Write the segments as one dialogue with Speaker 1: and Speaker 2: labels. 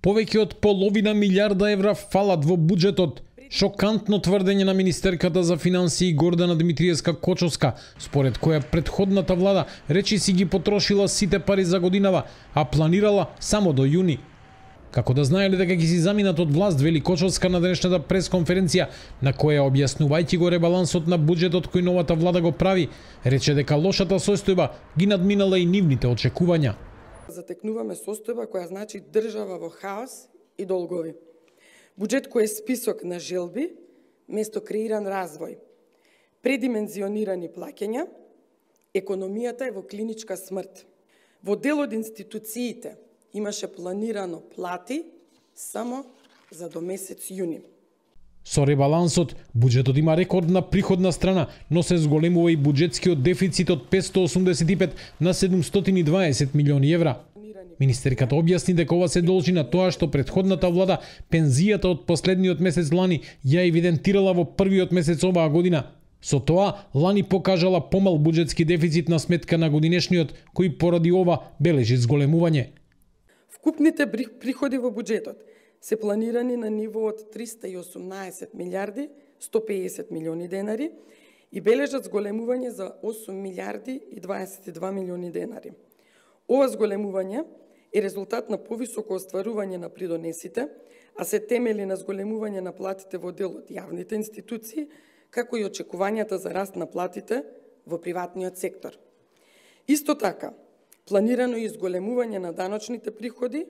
Speaker 1: Повеќе од половина милиарда евра фалат во буџетот. Шокантно тврдење на министерката за финансии Гордана Димитриевска-Кочовска, според која претходната влада речиси ги потрошила сите пари за годинава, а планирала само до јуни. Како да знаеле дека ги си заминат од власт, вели Кочовска на денешната пресконференција, на која објаснувајќи го ребалансот на буџетот кој новата влада го прави, рече дека лошата состојба ги надминала и нивните очекувања.
Speaker 2: Затекнуваме состојба која значи држава во хаос и долгови. Буџет кој е список на желби, место креиран развој, предимензионирани плаќања, економијата е во клиничка смрт. Во дел од институциите имаше планирано плати само за до месец јуни.
Speaker 1: Со ребалансот, буџетот има рекордна приходна страна, но се зголемува и буџетскиот дефицит од 585 на 720 милиони евра. Министерката објасни дека ова се должи на тоа што претходната влада пензијата од последниот месец лани ја евидентирала во првиот месец оваа година. Со тоа, лани покажала помал буџетски дефицит на сметка на годинешниот, кој поради ова бележи зголемување.
Speaker 2: Вкупните приходи во буџетот се планирани на ниво од 318 милиарди 150 милиони денари и бележат зголемување за 8 милиарди и 22 милиони денари. Ова зголемување е резултат на повисоко остварување на придонесите, а се темели на зголемување на платите во дел од јавните институции, како и очекувањата за раст на платите во приватниот сектор. Исто така, планирано и зголемување на даночните приходи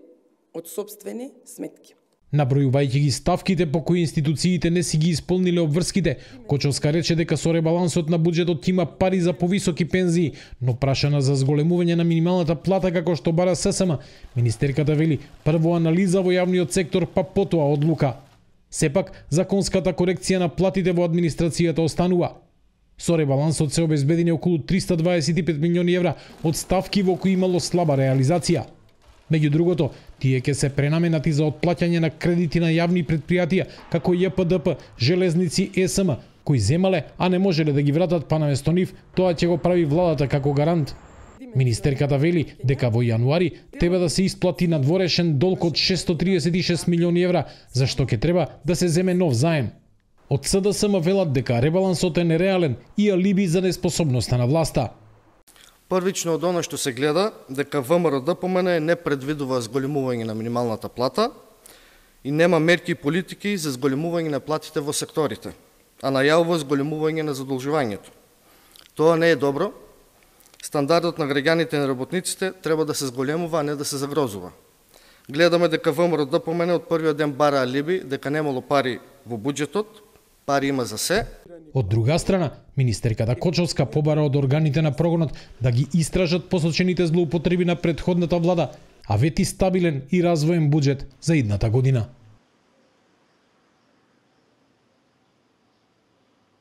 Speaker 2: од сопствени сметки.
Speaker 1: Набројувајќи ги ставките по кои институциите не си ги исполниле обврските, Кочовска рече дека со ребалансот на буџетот има пари за повисоки пензии, но прашана за зголемување на минималната плата како што бара ССМ, министерката вели прво анализа во јавниот сектор, па потоа одлука. Сепак, законската корекција на платите во администрацијата останува. Со ребалансот се обезбедени околу 325 милиони евра од ставки во кои имало слаба реализација. Меѓу другото, тие ќе се пренаменати за отплаќање на кредити на јавни предпријатија, како ЈПДП, Железници, ЕСМ, кои земале, а не можеле да ги вратат, па наместо нив, тоа ќе го прави владата како гарант. Министерката вели дека во јануари треба да се исплати надворешен долг од 636 милиони евра, за што ќе треба да се земе нов заем. Од СДСМ велат дека ребалансот е нереален и алиби за неспособноста на власта.
Speaker 3: Првично од она што се гледа, дека ВМРО-ДПМН не предвидува зголемување на минималната плата и нема мерки и политики за зголемување на платите во секторите, а најавува зголемување на задолжувањето. Тоа не е добро. Стандардот на граѓаните и на работниците треба да се зголемува, а не да се загрозува. Гледаме дека ВМРО-ДПМН од првиот ден бара алиби, дека немало пари во буџетот, пари има за се.
Speaker 1: Од друга страна, министерката Кочовска побара од органите на прогонот да ги истражат посочените злоупотреби на претходната влада, а вети стабилен и развоен буџет за идната година.